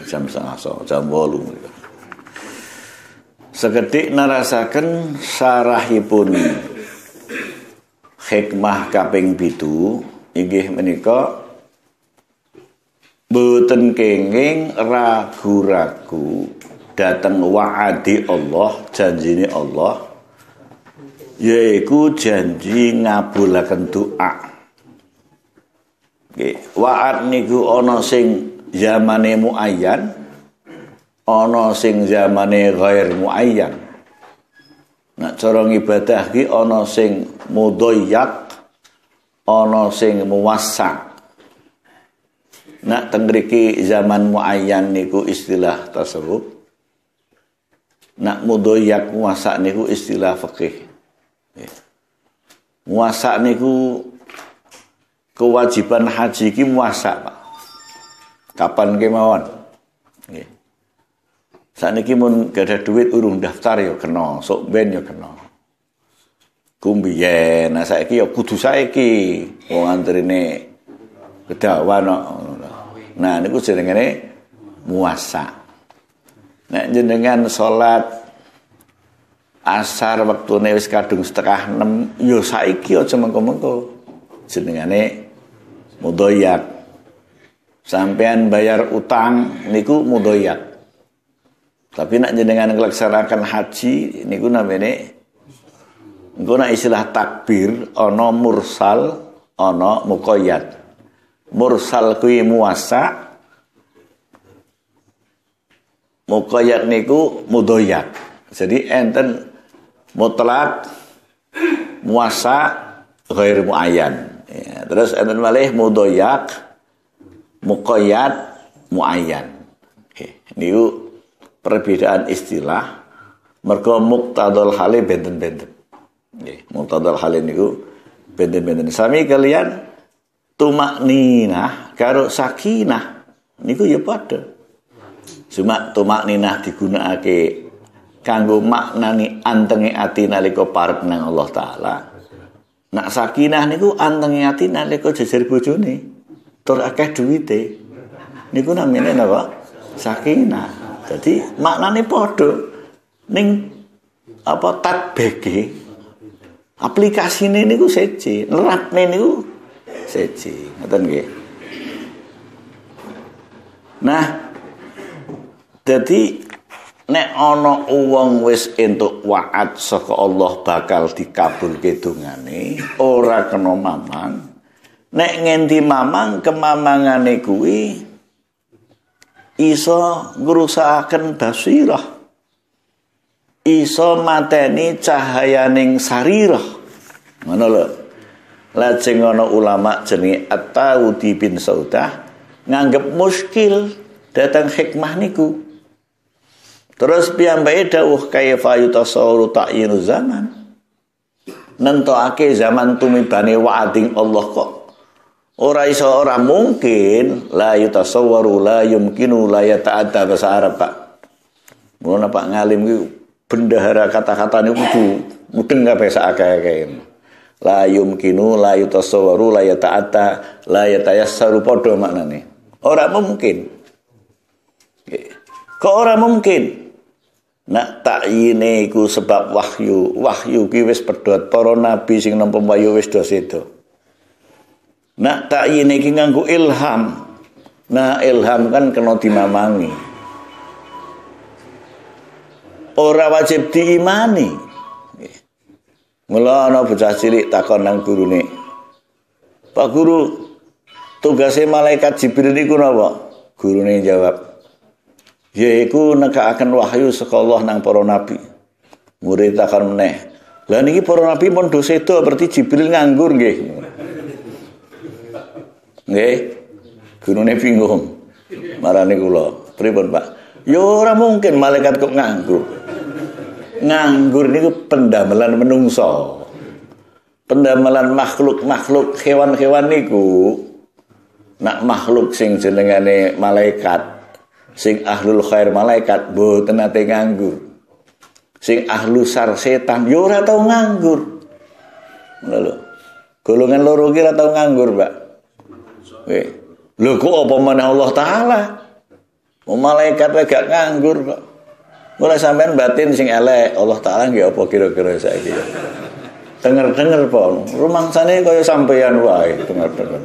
Jam 8:30, jam 8. Sekedhik nerasaken sarahipun hikmah kaping 7 inggih menika boten kenging ragu-ragu dateng wa'adi Allah, janjine Allah, yaiku janji ngabulaken doa. Nggih, wa'ad niku ana sing zamane muayyan, ana sing zamane ghair muayyan. Nek cara ngibadah ki ana sing mudayyak, ana sing muwassa. Nek teng mriki zaman muayyan niku istilah tasawuf. Nek mudayyak muwassa niku istilah fikih. Muwassa niku kewajiban haji ki muwassa, Pak. Kapan kemawon. Nggih. Sakniki mun gadah duit urung daftar ya kena, sok ben ya kena. Ku mbiyen, nah saiki ya kudu saiki wong antrine kedawan kok. Nah niku jenengane muwassa. Nek jenengan salat asar wektune wis kadung 5:30, ya saiki aja mengko-mengko. Jenengane mudayyak. Sampean bayar utang niku mudayyak. Tapi nak jenengan nglaksanakan haji niku namine engko nak istilah takbir ana mursal, ana muqayyad. Mursal kuwi muwassa, muqayyad niku mudayyak. Jadi enten mutlak, muwassa, ghair muayyan. Ya, terus enten malih mudayyak, muqayyad, muayyan. Oke, niku perbedaan istilah mergo muqtadal hale benten-benten. Nggih, muqtadal hale niku benten-benten. Sami kalian tumakninah karo sakinah niku ya padha. Cuma tumakninah digunakake kanggo maknani antenge ati nalika parek nang Allah Taala. Nak sakinah niku antenge ati nalika jejer bojone tur akeh duwite. Niku namine napa? Sakinah. Jadi maknane padha ning apa tatbeke aplikasine niku seje, nerapne niku seje. Ngoten nggih. Nah, dadi nek ana wong wis entuk wa'ad saka Allah bakal dikabulke dongane, ora kena mamang. Nek ngendi mamang, kemamangane kuwi iso ngrusakaken basirah, iso mateni cahayaning sarirah. Ngono lho. Lajeng ana ulama jenenge At-Taudi bin Saudah nganggep muskil datang hikmah niku. Terus piyambake dawuh kaifa yutasawwaru ta'yinu zaman. Nentokake zaman tumibane wa'ading Allah kok ora iso, ora mungkin. La yutasawwaru la yumkinu la yata'adda bahasa Arab, Pak. Ngono Pak ngalim ki bendahara kata-kata niku kudu mudeng kabeh sak akeh-akeh. La yumkinu la yutasawwaru la yata'adda la yatayassaru padha maknane. Ora mungkin. Kok ora mungkin? Nak takyine iku sebab wahyu. Wahyu ki wis pedhot, para nabi sing nampa wahyu wis do sedo. Nak takyine iki nganggo ilham. Nah, ilham kan kena dimamangi. Ora wajib diimani. Mula ana bocah cilik takon nang gurune. Pak guru, tugase malaikat Jibril niku napa? Gurune jawab, yaiku nekakaken wahyu saka Allah nang para nabi. Murid takon meneh, lah niki para nabi pun do sedo, berarti Jibril nganggur nggih. Nggih. Gurune bingung. Marani kula, pripun Pak? Ya ora mungkin malaikat kok nganggur. Nganggur niku pendamelan menungso. Pendamelan makhluk-makhluk hewan-hewan niku. Nak makhluk sing jenengane malaikat, sing ahlul khair malaikat mboten nate nganggur. Sing ahlu sar setan ya ora tau nganggur. Ngono lho. Golongan loro ki ora tau nganggur, Pak. Nggih. Lho kok apa meneh Allah Taala? Malaikat wae gak nganggur kok. Mulai sampean batin sing elek, Allah Ta'ala nggih apa kira-kira saiki ya. Denger-denger po, rumangsane kaya sampean wae denger-denger.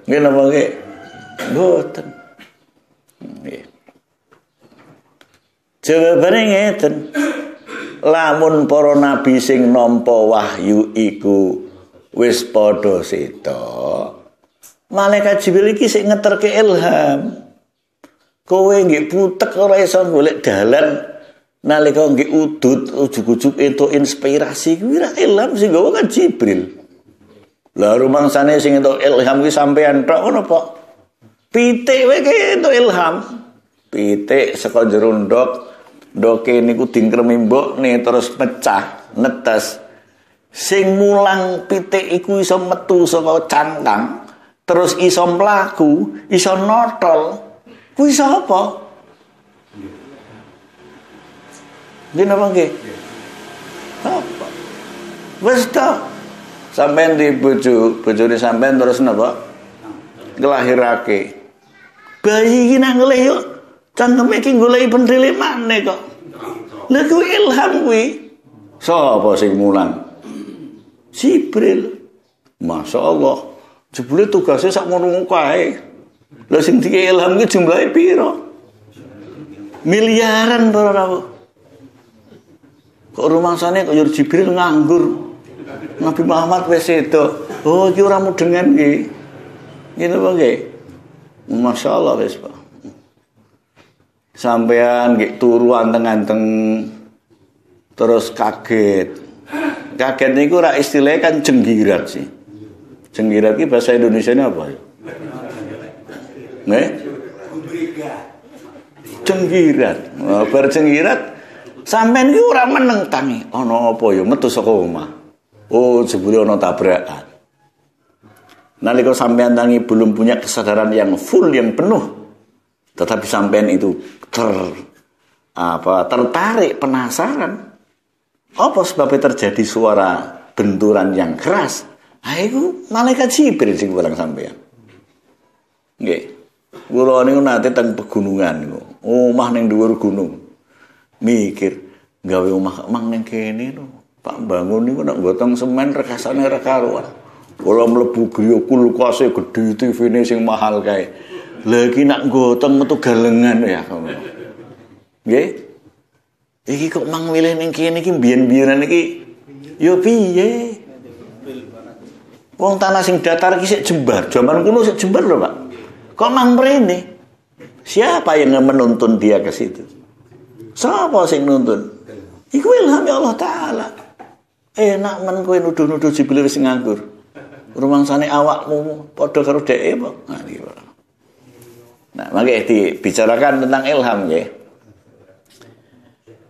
Nggih napa nggih? Mboten. Nggih. Jawabane ngeten. Lamun para nabi sing nampa wahyu iku wis padha seda, malaikat Jibril iki sing ngeterke ilham. Kowe nggih putek ora iso golek dalan nalika nggih udut ujug-ujug entuk inspirasi kuwi ra ilham sing gawa kan Jibril. Lah rumangsane sing entuk ilham kuwi sampean tok ngono apa? Pitik wae ki entuk ilham. Pitik saka jero ndok, ndoke niku dingkremi mbokne terus pecah, netes. Sing mulang pitik iku iso metu saka cangkang, terus iso mlaku, iso notol. Kuwi sapa? Nggih napa nggih? Apa? Wis ta. Sampeyan di bojo, bojone sampeyan terus napa? Nglahirake. Bayi iki nang ngelih yo cangkeme iki goleki penthile maneh kok. Lha kuwi ilham kuwi. Sapa sing mulang? Jibril. Masya Allah. Jebule tugasnya sak ngono kae. Lah sing dikei ilham ki jumlahe pira? Miliaran para rawuh. Kok rumangsane kok Jibril nganggur. Nabi Muhammad wis sedo. Oh iki ora mudengan iki. Ngene apa nggih? Masya Allah wis Pak. Sampean nggih turu anteng-anteng terus kaget. Kaget niku ora istilahnya kan jenggirat sih. Jenggirat ki bahasa Indonesianya apa ya? Nggih? Jenggirat. Bar jenggirat sampean ki ora meneng tangi. Ana apa ya metu saka omah. Oh, jebule ana tabrakan. Nalika sampean tangi belum punya kesadaran yang full, yang penuh. Tetapi sampean itu tertarik, penasaran. Apa sebabnya terjadi suara benturan yang keras? Ha iku malaikat Jibril sing barang sampean. Nggih. Kula niku nate teng pegunungan niku. Omah ning dhuwur gunung. Mikir gawe omah mang ning kene lho. Pak bangun niku nek gotong semen rekasane ra karuan. Kula mlebu griya kulkase gedhe TV-ne sing mahal kae. Lha iki nak gotong metu galengan ya. Nggih. Iki kok mang milih ning kene iki biyen-biyenan iki ya piye? Wong tanah sing datar iki sik jembar. Jaman kuno sik jembar lho, Pak. Kok mang mrene? Siapa yang menuntun dia ke situ? Siapa sing nuntun? Iku ilham ya Allah Ta'ala. Enak men kowe nuduh-nuduh Jibril wis nganggur. Rumangsane awakmu padha karo dheke apa? Nah, iki. Nah, mangke dibicarakan tentang ilham nggih.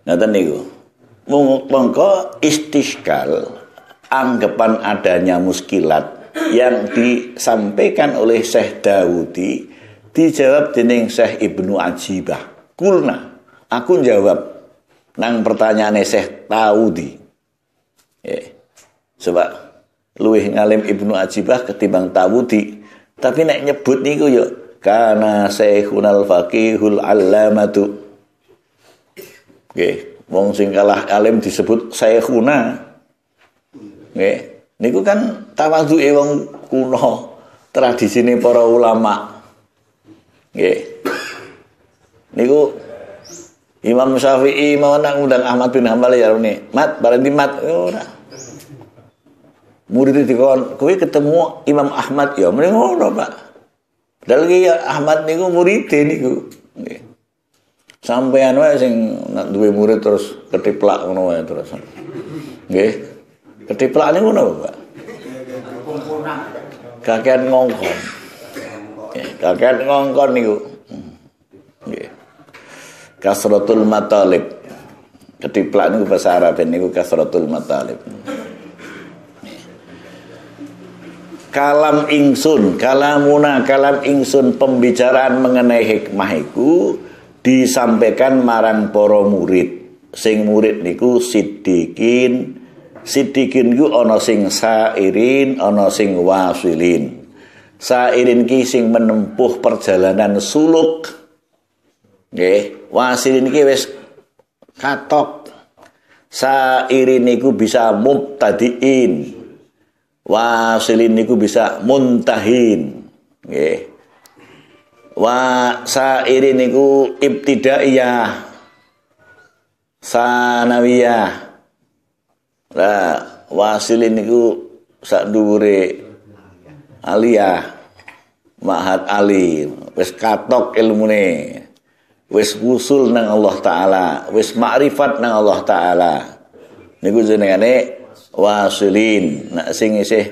Ngoten niku. Mongko istiskal anggapan adanya muskilat yang disampaikan oleh Syekh Dawudi dijawab dening Syekh Ibnu Ajibah. Kulna, aku jawab nang pertanyaane Syekh Dawudi. Coba luwih ngalim Ibnu Ajibah ketimbang Dawudi, tapi nek nyebut niku yo kana Syekhunal faqihul allamatu. Nggih, wong sing kalah alim disebut Syekhuna. Nggih, niku kan tawadhuke wong kuno, tradisine para ulama. Nggih. Niku Imam Syafi'i mau nang ngundang Ahmad bin Hanbal ya rene. Mat, bareng di mat ora. Murid dikon, kowe ketemu Imam Ahmad ya mrene ngono, Pak. Padahal ki Ahmad niku muride niku. Nggih. Sampean wae sing duwe murid terus ketiplak ngono wae terus. Nggih. Ketiplak niku ngono, Pak. Kakean ngongkon. Kakean ngongkon niku. Nggih. Kasratul matalib. Ketiplak niku bahasa Arab niku kasratul matalib. Kalam ingsun, kalamuna, kalam ingsun, pembicaraan mengenai hikmah iku disampaikan marang para murid. Sing murid niku siddiqin. Siddiqin ku ana sing sairin, ana sing wasilin. Sairin ki sing menempuh perjalanan suluk. Nggih, wasilin iki wis katok. Sairin niku bisa mubtadiin. Wasilin niku bisa muntahin. Nggih. Wa sairin niku ibtidaiyah, sanawiyah. Lah wasilin niku sak dhuwure aliyah, ma'had ali, wis katok ilmune, wis wusul nang Allah Ta'ala, wis makrifat nang Allah Ta'ala. Niku jenengane wasilin. Nak sing isih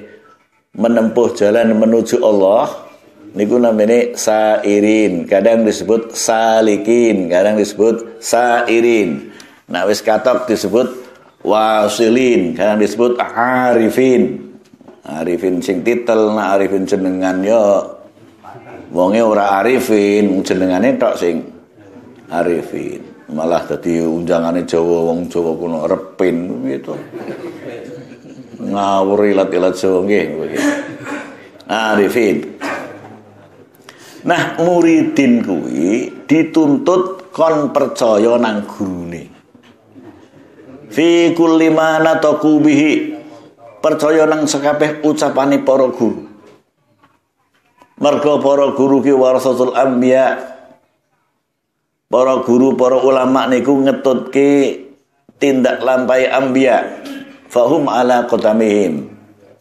menempuh jalan menuju Allah niku namanya sairin. Kadang disebut salikin, kadang disebut sairin. Nak wis katok disebut wasilin, kadang disebut arifin. Arifin sing titel, nak arifin jenengan yo wonge ora arifin, jenengane tok sing arifin. Malah dadi unjangane Jawa, wong Jawa kuno repin gitu. Ngawur ilat-ilat Jawa nggih. Arifin. Nah, muridin kuwi dituntut kon percaya nang gurune. Fi kulli ma nataqu bihi, percaya nang sekabeh ucapane para guru. Mergo para guru ki warasatul anbiya. Para guru, para ulama niku ngetutke tindak lampahi anbiya. Fahum ala qadamihim.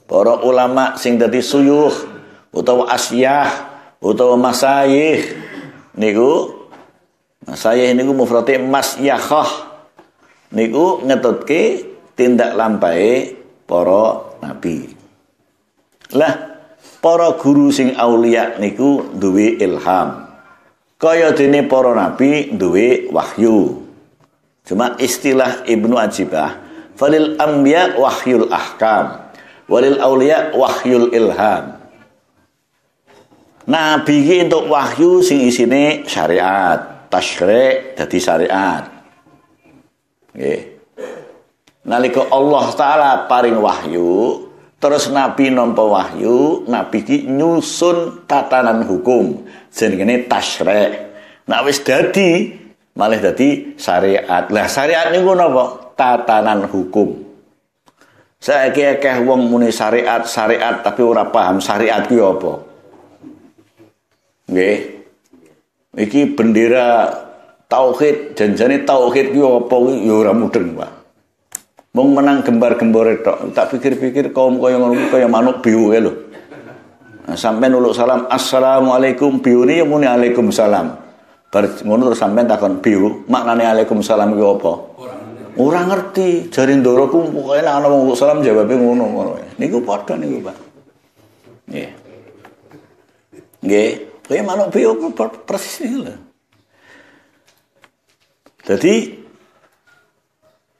Para ulama sing dadi suyuh utawa asyah utawa masayih niku, masayih niku mufrate masyakhah, niku ngetutke tindak lampahe para nabi. Lah para guru sing aulia niku duwe ilham. Kaya dene para nabi duwe wahyu. Cuma istilah Ibnu Ajibah, falil anbiya wahyul ahkam, walil aulia wahyul ilham. Nabi iki entuk wahyu sing isine syariat, tasyri' dadi syariat. Nggih. Nalika Allah Ta'ala paring wahyu, terus nabi nampa wahyu, nabi ki nyusun tatanan hukum jenenge tasyri'. Nek wis dadi malih dadi syariat. Lah syariat niku napa? Tatanan hukum. Saiki akeh wong muni syariat, syariat tapi ora paham syariat kuwi apa. Nggih. Iki bendera tauhid, janjane tauhid kuwi apa kuwi ya ora mudeng, Pak. Wong menang gembar-gembore tok. Tak pikir-pikir kaum kaya ngono kuwi kaya manuk biu kae lho. Nah, sampean uluk salam, assalamualaikum, biune ya muni alaikumsalam. Bar ngono terus sampean takon biu, maknane alaikumsalam kuwi apa? Ora ngerti. Jare ndoro ku pokoke nek ana wong uluk salam jawabe ngono ngono. Niku padha niku, Pak. Nggih. Nggih, kaya manuk biu persis niku lho. Dadi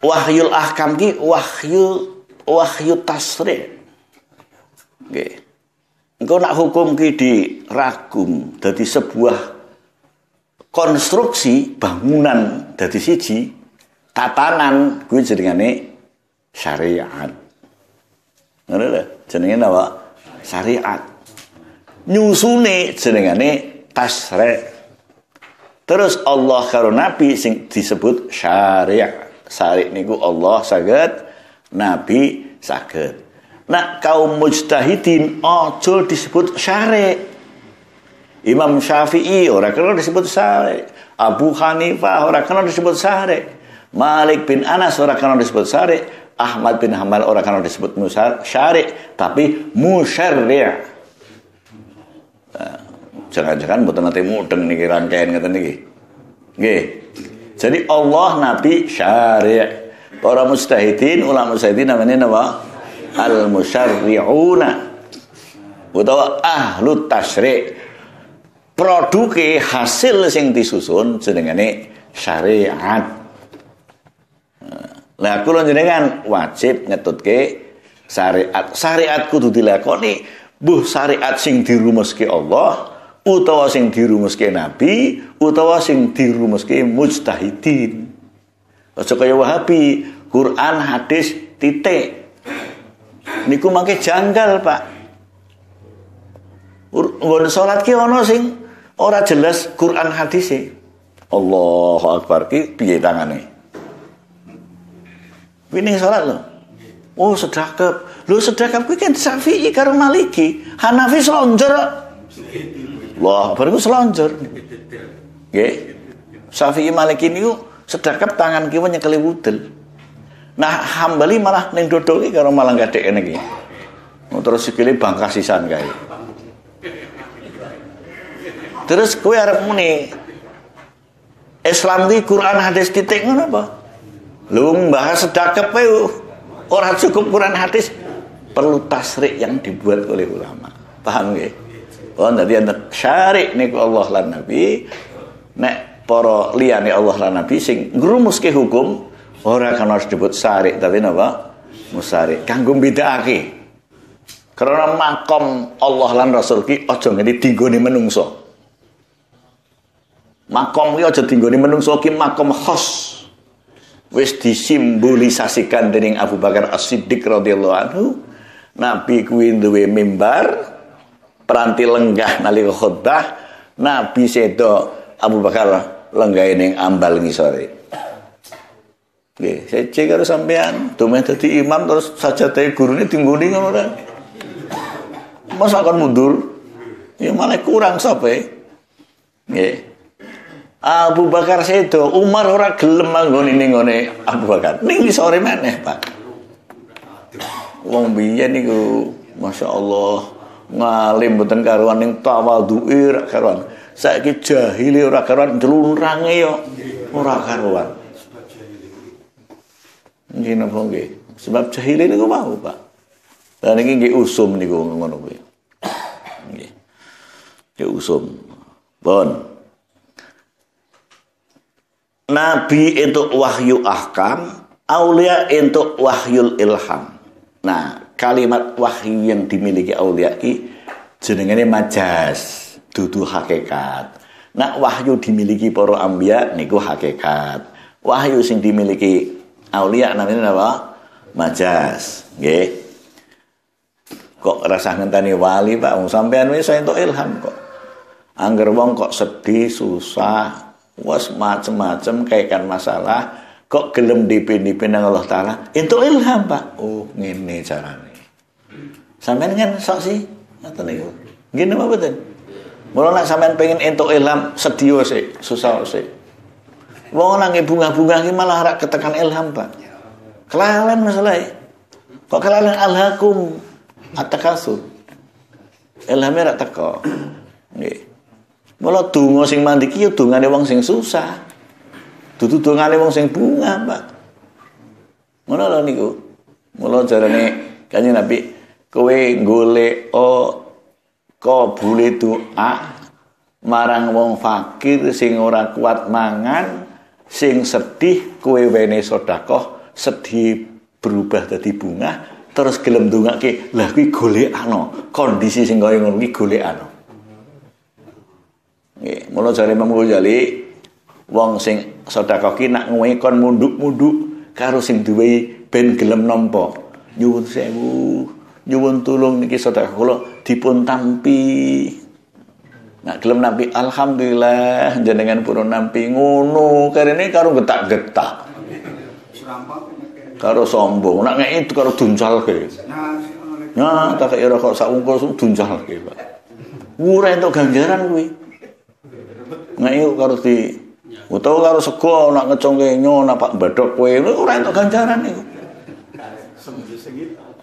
wahyul ahkam ki wahyu tasri'. Nggih. Engko nak hukum ki diragum dadi sebuah konstruksi bangunan dadi siji tatanan kuwi jenengane syariat. Ngono lho, jenenge napa? Syariat. Nyusune jenengane tasri'. Terus Allah karo Nabi sing disebut syariat. Syari' niku Allah saged, Nabi saged. Nah, kaum mujtahidin aja disebut syari'. Imam Syafi'i ora kena disebut syari'. Abu Hanifah ora kena disebut syari'. Malik bin Anas ora kena disebut syari'. Ahmad bin Hanbal ora kena disebut syari', tapi musyarri'. Nah, jangan-jangan mboten nate mudeng niki rangkaian ngeten niki. Nggih. Jadi Allah, Nabi, syari'. Para mujtahidin, ulama mujtahidin namanya napa? Al-musyarri'una utawa ahlu tasyri'. Produke hasil sing disusun jenengane syariat. Lah kula jenengan wajib ngetutke syariat. Syariat kudu dilakoni, mbuh syariat sing dirumuske Allah utawa sing dirumuske Nabi utawa sing dirumuske mujtahidin. Aja kaya Wahabi, Quran, hadis titik. Niku mangke janggal, Pak. Nggon salat ki ana sing ora jelas Quran hadise. Allahu Akbar ki piye tangane? Kuwi ning salat lho. Oh, sedekap. Lho sedekap kuwi kan Syafi'i karo Maliki. Hanafi selonjor. Wah, baru selonjor. Nggih. Syafi'i Maliki niku sedekap tangan kiwa nyekeli wudel. Nah, Hambali malah ning dodol iki karo malah gadhek kene iki. Terus sikile bangkas sisan kae. Terus kowe arep muni Islam ki Quran hadis titik ngono apa? Lho bahas sedekap wae ora cukup Quran hadis, perlu tasrik yang dibuat oleh ulama. Paham nggih? Oh, dadi enten syarik niku Allah lan Nabi, nek para liyane Allah lan Nabi sing ngrumuske hukum ora kan harus disebut syarik tapi napa? Musarik. Kanggo mbedakake. Karena makom Allah lan Rasul ki aja ngene dinggone menungso. Makom ki aja dinggone menungso ki makom khos. Wis disimbolisasikan dening Abu Bakar As-Siddiq radhiyallahu anhu. Nabi kuwi duwe mimbar, peranti lenggah nalika khutbah, Nabi sedo Abu Bakar lenggahe ning ambal ngisore. Nggih, sece karo sampean, dumeh dadi imam terus sajadahe gurune dinggoni ngono ora. Masa akan mundur? Ya malah kurang sampe. Nggih. Abu Bakar sedo, Umar ora gelem manggoni ning ngone Abu Bakar. Ning sore maneh, Pak. Wong biyen niku masyaallah ngalim mboten karuan ning tawadhuke ora karuan. Saiki jahile ora karuan, njlunrange yo ora karuan. Nggih napa nggih? Sebab jahile niku mau, Pak. Lah niki nggih usum niku ngono kuwi. Nggih. Nggih usum. Bon. Nabi entuk wahyu ahkam, aulia entuk wahyul ilham. Nah, kalimat wahyu yang dimiliki aulia ki jenengane majas, dudu hakikat. Nah, wahyu dimiliki para anbiya niku hakikat. Wahyu sing dimiliki aulia namanya apa? Majas, nggih. Kok rasah ngenteni wali, Pak? Wong sampean wis entuk ilham kok. Angger wong kok sedih, susah, was macem-macem kaitan masalah, kok gelem dipin-dipin nang Allah Ta'ala, entuk ilham, Pak. Oh, ngene carane. Sampean kan sok sih ngoten niku. Nggih napa mboten? Mula nek sampean pengen entuk ilham, sedih sik, susah sik. Wong nang bunga-bunga iki malah rak ketekan ilham, Pak. Kelalen masalahe. Kok kelalen alhaqum at-takasur. Ilhame rak teko. Nggih. Mula donga sing mandi ki ya dongane wong sing susah. Dudu dongane wong sing bunga, Pak. Ngono lho niku. Mula jarane Kanjeng Nabi, kowe golek kabule doa marang wong fakir sing ora kuat mangan, sing sedih kowe wene sedekah, sedih berubah dadi bunga, terus gelem ndongake. Lah kuwi golekano, kondisi sing kaya ngono kuwi golekano. Nggih, mula jare Imam Ghazali, wong sing sedekah ki nak ngowe kon munduk-munduk karo sing duwe ben gelem nampa. Nyuwun sewu, nyuwun tulung niki sedekah kula dipun tampi. Nak gelem nampi alhamdulillah jenengan purun nampi ngono, karene karo getak-getak. Karo sombong, nak ngeki karo duncalke. Nah, tak kira kok sak wungkul duncalke, Pak. Ora entuk ganjaran kuwi. Ngeki karo di utawa karo sego nak ngecongke nyo nak pak badhok kowe ora entuk ganjaran niku.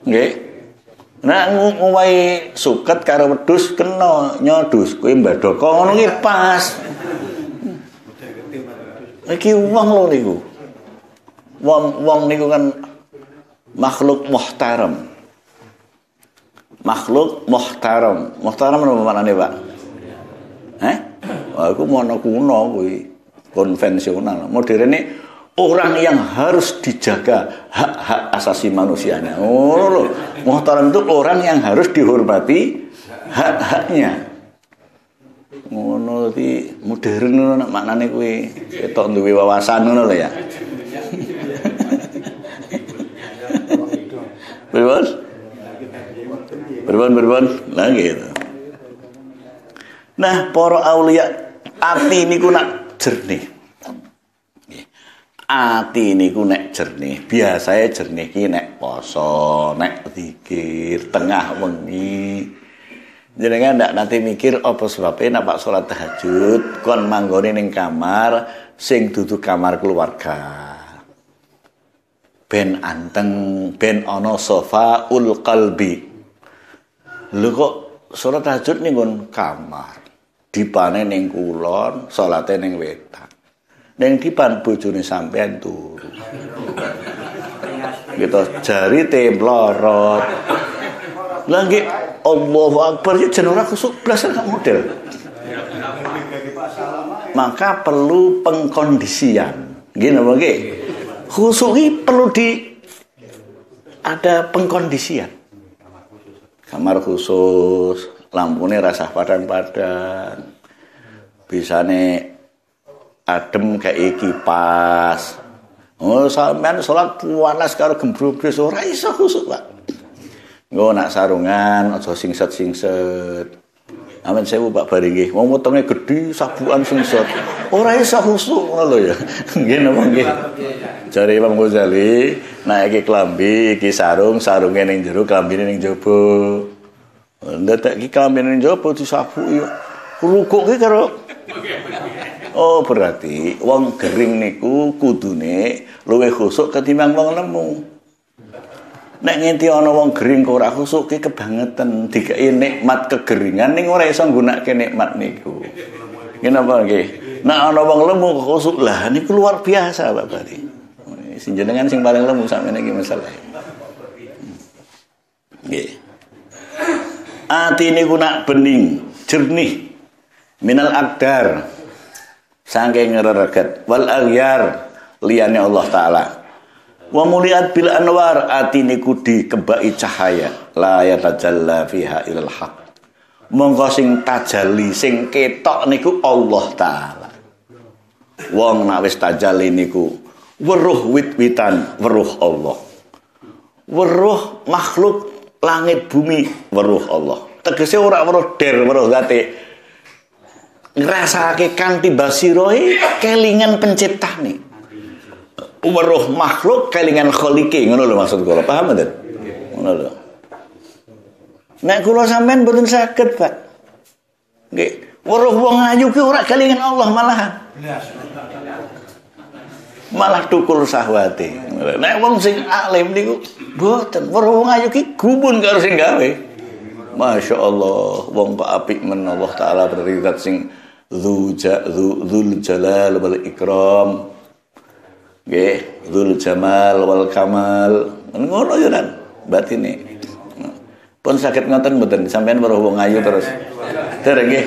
Nggih. Nek nguwahi suket karo wedhus kena nyodus kowe mbadhok ngono ki pas. Iki wong lho niku. Wong niku kan makhluk muhtaram. Makhluk muhtaram. Muhtaram napa maknane, Pak? Heh? Wah, iku mono kuno kuwi, konvensional. Moderne orang yang harus dijaga hak-hak asasi manusianya. Oh lho, muhtaram itu orang yang harus dihormati hak-haknya. Ngono dadi modern ngono maknane kuwi. Ketok duwe wawasan ngono lho ya. Pripun? Pripun? Lah gitu. Nah, para aulia ati niku nak jernih. Ati niku nek jernih, biasae jernih ki nek poso, nek zikir tengah wengi. Jenengan ndak nanti mikir apa sebabnya nek salat tahajud kon manggone ning kamar sing dudu kamar keluarga. Ben anteng, ben ana sofaul qalbi. Lho kok salat tahajud ning nggon kamar, dipane ning kulon, salate ning wetan. Ning dipan bojone sampean turu. Gitu jari templorot. Lah nggih Allahu Akbar iki jen ora khusuk blas gak model. Maka perlu pengkondisian. Nggih napa nggih? Khusuk iki perlu di ada pengkondisian. Kamar khusus, lampune rasah padang-padang. Bisane adem kayak kipas. Oh, sampean salat panas karo gembrobres ora iso khusuk, Pak. Engko nak sarungan aja singset-singset. Amin sewu Pak Bari nggih. Wong wetenge gedhi sabukan singset. Ora iso khusuk ngono lho ya. Nggih napa nggih. Jare Imam Ghazali, nek iki klambi, iki sarung, sarunge ning jero, klambine ning jaba. Ndadak iki klambine ning jaba disabuki. Rukuk ki karo. Oh, berarti wong gering niku kudune luwih khusuk ketimbang wong lemu. Nek ngenti ana wong gering kok ora khusuk ki kebangetan, dikeki nikmat kegeringan ning ora iso nggunakake nikmat niku. Nggih napa nggih? Nek ana wong lemu kok khusuk lah niku luar biasa Pak Bari. Sing jenengan sing paling lemu sakmene iki masalahe. Nggih. Ati niku nak bening, jernih minal akdar saking ngrereget wal aghyar liyane Allah taala. Wa muliat bil anwar, ati niku dikebaki cahaya la yatajalla fiha ilal haq. Mongko sing tajalli sing ketok niku Allah taala. Wong nak wis tajalli niku weruh wit-witan, weruh Allah. Weruh makhluk langit bumi, weruh Allah. Tegese ora weruh der, weruh zate. Ngrasake kanthi basirohe kelingan penciptane. Weruh makhluk kelingan kholike, ngono lho maksud kula. Paham mboten? Ngono lho. Nek kula sampean mboten saged, Pak. Nggih, weruh wong ayu ki ora kelingan Allah malahan. Malah tukul sahwate. Nek wong sing alim niku mboten, weruh wong ayu ki gumun karo sing gawe. Masya Allah, wong kok apik men Allah taala berarti zat sing dzul jalal wal ikram. Nggih, dzul jamal wal kamal. Ngono ya kan batine. Pun saged ngoten mboten sampean weruh wong ayu terus. Dereng nggih.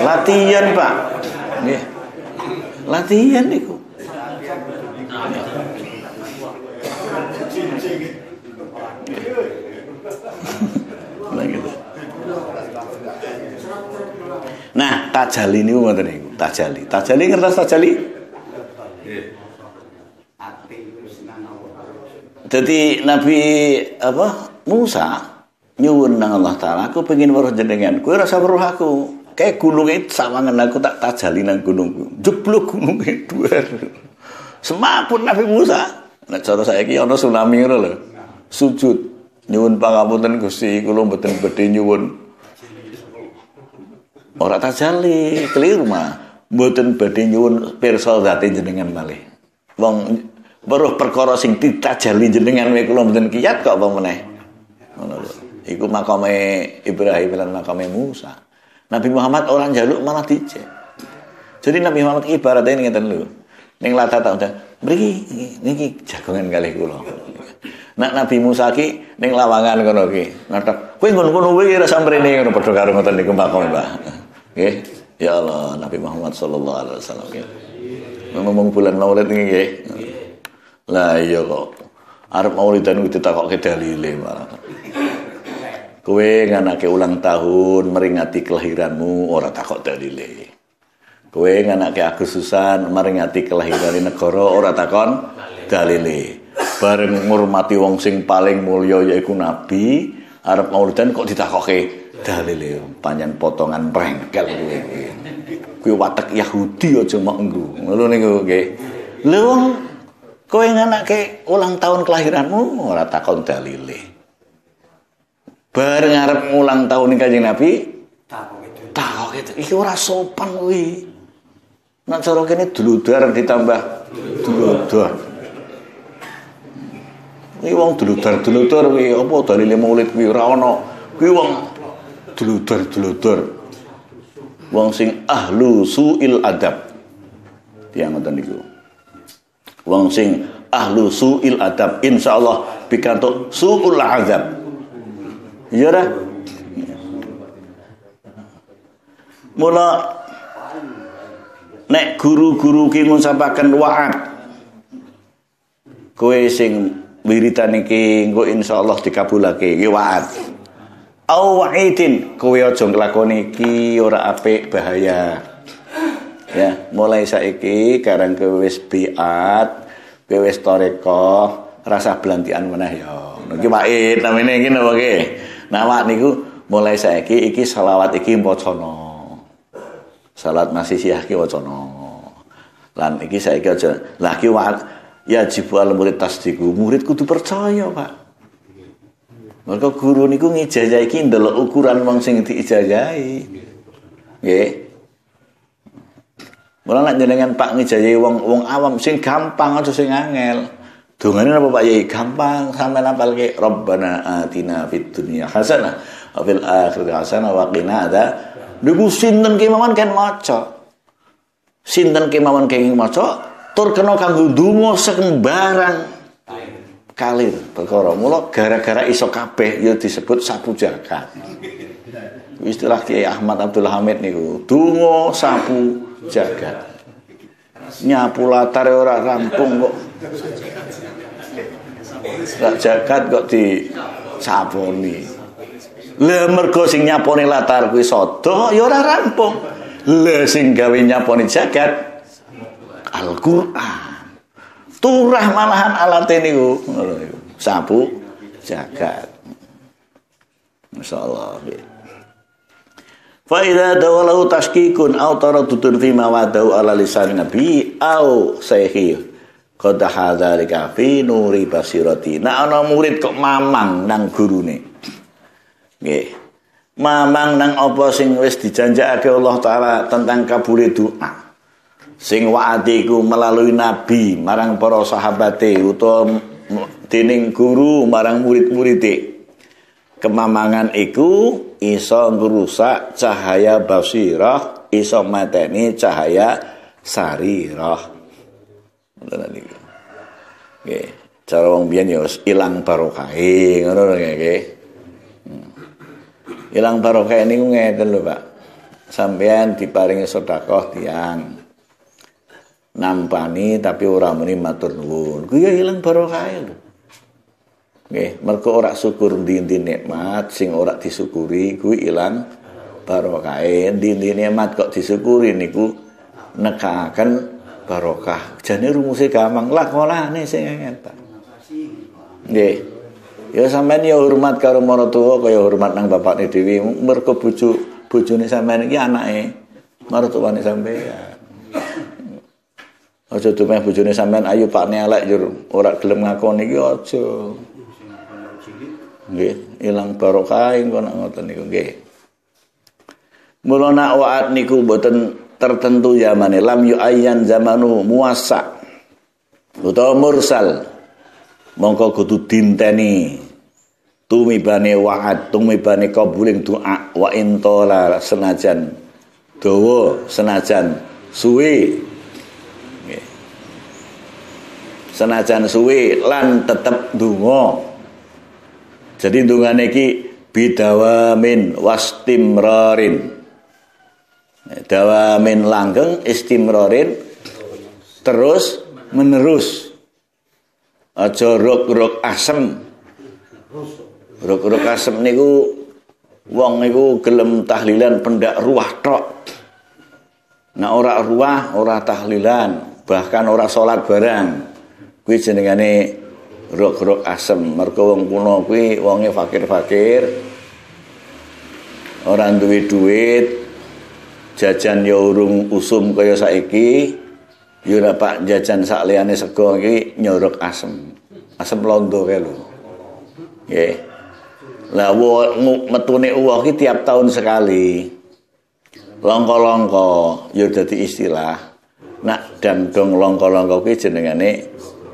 Latihan, Pak. Nggih. Latihan niku. Nah, gitu. Nah, tajali niku ngoten niku, tajali. Tajali ngertos tajali? Jadi Nabi apa Musa nyuwun nang Allah taala, aku pengen weruh jenengan. Kowe ora usah weruh aku. Kayak gununge sawangan aku tak tajali nang gunungku. Jeblok gununge dhuwur. Semaput Nabi Musa. Nek cara saiki ana tsunami ngono lho. Sujud nyuwun pangapunten Gusti, kula mboten badhe nyuwun. Ora tajali, keliru mah. Mboten badhe nyuwun pirsa zate jenengan malih. Wong weruh perkara sing ditajali jenengan wae kula mboten kiyat kok apa meneh. Ngono lho. Iku makame Ibrahim lan makame Musa. Nabi Muhammad orang njaluk malah dicek. Jadi Nabi Muhammad ibaratnya ngeten lho. Ning latah tak undang, mriki niki jagongan kalih kula. Nek Nabi Musa ki ning lawangan kono ki. Nathok, kowe nggon kono kuwi ora samprene ngono padha karo ngoten niku makame, Pak. Nggih. Ya Allah, Nabi Muhammad sallallahu alaihi wasallam nggih. Ngomong bulan Maulid niki nggih. Lah iya kok. Arep maulidan kuwi ditakokke dalile malah. Kowe nganake ulang tahun meringati kelahiranmu ora takok dalile. Kowe nganake Agustusan meringati kelahiran negara ora takon dalile. Bareng ngurmati wong sing paling mulya yaiku nabi, arep maulidan kok ditakokke dalile. Panjen potongan prengkel kowe kuwi. Kuwi watek Yahudi aja mok nggo. Ngono niku nggih. Lha wong kowe nganake ulang tahun kelahiranmu ora takon dalile. Bareng arep ulang tahun Kanjeng Nabi takok itu. Iki ora sopan kuwi. Nek cara kene dludar ditambah dludar. Iki wong dludar-dludar kuwi apa dalile maulid kuwi ora ana. Kuwi wong dludar-dludar. Wong sing ahlu su'il adab. Tiyang ngoten niku. Wong sing ahlu su'il adab insyaallah pikantuk su'ul azab. Iya ora? Mula nek guru-guru ki ngucapaken wa'ad kowe sing wiritan iki engko insyaallah dikabulake iki wa'ad. Au wa'idin kowe aja nglakoni iki ora apik bahaya. Ya, mulai saiki karang kowe wis biat, kowe wis tarekah, rasa belantian meneh ya. Niki wa'id namine iki napa nggih? Nah, wa'id niku mulai saiki iki selawat iki wacana. Salat masih siah ki wacana. Lan iki saiki aja. Lah ki wa'id ya jibu al murid tasdiku. Murid kudu percaya, Pak. Mergo guru niku ngijazahi iki ndelok ukuran wong sing diijazahi. Nggih. Mula nek jenengan Pak ngijazahi wong awam sing gampang aja sing angel. Dongane napa Pak Yai? Gampang sampean apalke Rabbana atina fid dunya hasanah wa fil akhirati hasanah wa qina adza. Niku sinten kemawon ken maca. Sinten kemawon kenging maca tur kena kanggo ndonga sembarang kalir perkara. Mula gara-gara iso kabeh ya disebut sapu jagat. Istilah Kiai Ahmad Abdul Hamid niku, donga sapu jagat. Nyapu latar ora rampung kok. Rak jagat kok disaponi. Lah mergo sing nyaponi latar kuwi sodo ya ora rampung. Lah sing gawe nyaponi jagat Al-Qur'an. Turah malahan alate niku ngono niku. Sapu jagat. Masyaallah. Fa idza dawalahu tashkikun aw taraddudun fi ma wadahu ala lisan nabi au sayhi qad hadzalika fi nuri basirati. Nah ana murid kok mamang nang gurune. Nggih. Mamang nang apa sing wis dijanjakake Allah taala tentang kabule doa. Sing wa'ati iku melalui nabi marang para sahabate utawa dening guru marang murid-muride. Kemamangan iku iso ngrusak cahaya basirah, iso mateni cahaya sarirah. Ngoten niku. Nggih, cara wong biyen ya wis ilang barokahe, ngono lho nggih. Ilang barokah niku ngeten lho, Pak. Sampeyan diparingi sedekah tiyang. Nampani tapi ora muni matur nuwun. Kuwi ya ilang barokahe lho. Nggih, mergo ora syukur ndi-ndi nikmat sing ora disyukuri kuwi ilang barokahe. Ndi-ndi nikmat kok disyukuri niku nekaken barokah. Jane rumuse gampang, lakonane sing angel, Pak. Nggih. Ya sampean ya hormat karo maratuwa kaya hormat nang bapakne dhewe. Mergo bojone sampean iki anake maratuwane sampean. Aja dumeh bojone sampean ayu pakne elek njur ora gelem ngakoni iki aja. Nggih, ilang barokah engko nek ngoten niku nggih. Mula nak wa'ad niku mboten tertentu zamane, lam yu'ayyan zamanu muwassa utawa mursal. Mongko kudu dinteni tumibane wa'ad, tumibane kabuling doa wa intola senajan dawa, senajan suwe. Nggih. Senajan suwe lan tetep ndonga. Jadi ndongane iki bidawamin wastimrarin. Dawamin langgeng, istimrarin terus menerus. Aja rok-rok asem. Rok-rok asem niku wong niku gelem tahlilan pendak ruah tok. Nah ora ruah, ora tahlilan, bahkan ora salat barang. Kuwi jenengane rok-rok asem. Mergo wong kuno kuwi wonge fakir-fakir. Ora duwe duit, jajan ya urung usum kaya saiki. Ya ora Pak jajan sak liyane sego iki nyorok asem. Asem londo kae lho. Nggih. Lah metune uwoh iki tiap tahun sekali. Longko-longko ya dadi istilah. Nak dangdong longko-longko kuwi jenengane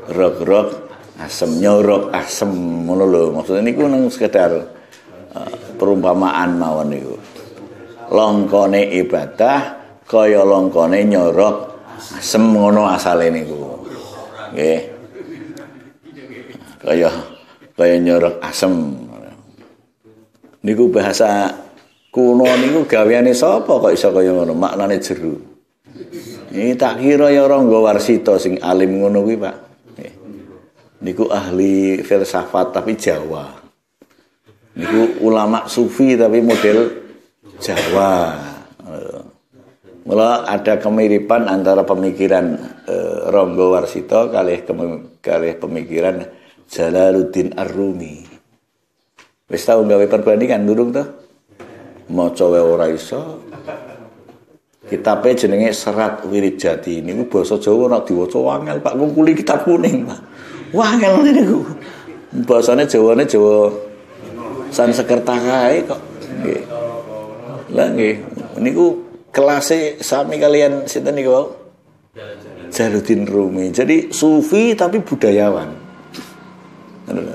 rok-rok asem, nyorok asem ngono lho. Maksudnya niku nang sekedar perumpamaan mawon niku. Longkone ibadah kaya longkone nyorok asem ngono asale niku. Nggih. Kaya kaya nyorok asem. Niku bahasa kuno niku gaweane sapa kok iso kaya ngono, maknane jero. Ini tak kira ya Rangga Warsita sing alim ngono kuwi, Pak. Niku ahli filsafat tapi Jawa. Niku ulama sufi tapi model Jawa. Mula ada kemiripan antara pemikiran Rangga Warsita kalih kalih pemikiran Jalaluddin Ar-Rumi. Wis tau gawe perbandingan durung to? Maca wae ora iso. Kitabe jenenge Serat Wirijati. Niku basa Jawa nek diwaca angel, Pak, ngungkuli kitab kuning, Pak. Wah, angel niku. Basane Jawane Jawa Sanskerta kae kok. Nggih. Lah nggih, niku kelase sami kalian sinten niku wau? Jalaluddin Rumi. Jadi sufi tapi budayawan.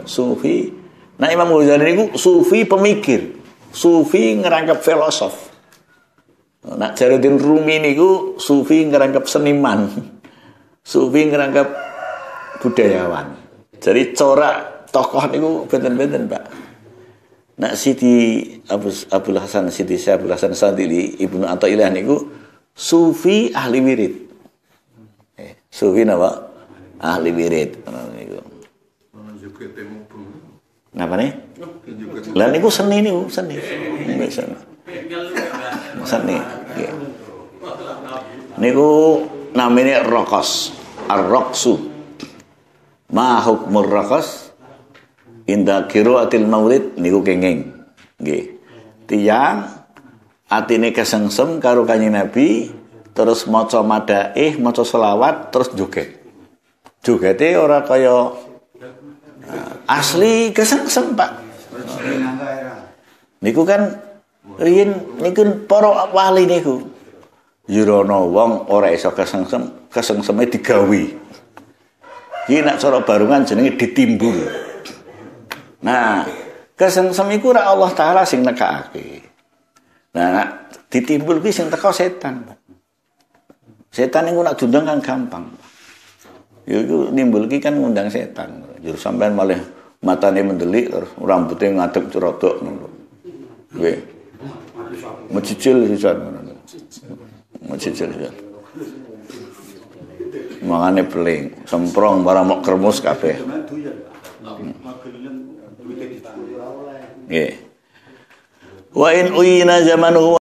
Sufi. Nah Imam Ghazali niku sufi pemikir. Sufi ngerangkap filosof. Nah Jalaluddin Rumi niku sufi ngerangkap seniman. Sufi ngerangkap budayawan. Jadi corak tokoh niku benten-benten, Pak. Nak Siti Abul Hasan Siti Abul Hasan Syadzili Ibnu Athaillah niku sufi ahli wirid. Sufi napa? Ahli wirid niku. Napa nih? Lah niku seni niku, seni. Seni. Seni. Niku namanya rokos, ar-raqsu. Ma hukmur raqas inda qiraatil maulid niku kenging. Nggih. Tiyang atine kesengsem karo Kanjeng Nabi terus maca madaih, maca selawat terus joget. Jogete ora kaya asli kesengsem, Pak. Niku kan riyin niku para wali niku. Yurono wong ora iso kesengsem, kesengseme digawe. Iki nek cara barungan jenenge ditimbul. Nah, kesengsem iku ora Allah Taala sing nekakake. Nah, ditimbul kuwi sing teko setan. Setan niku nek diundang kan gampang. Ya iku nimbul ki kan ngundang setan. Jur sampean malah matane mendelik terus rambutnya ngadeg cerodok ngono. Nggih. Mecicil sisan ngono. Mecicil sisan. Mangane beling, semprong barang mok kremus kabeh. Nggih. Wa in uyina zamanuhu.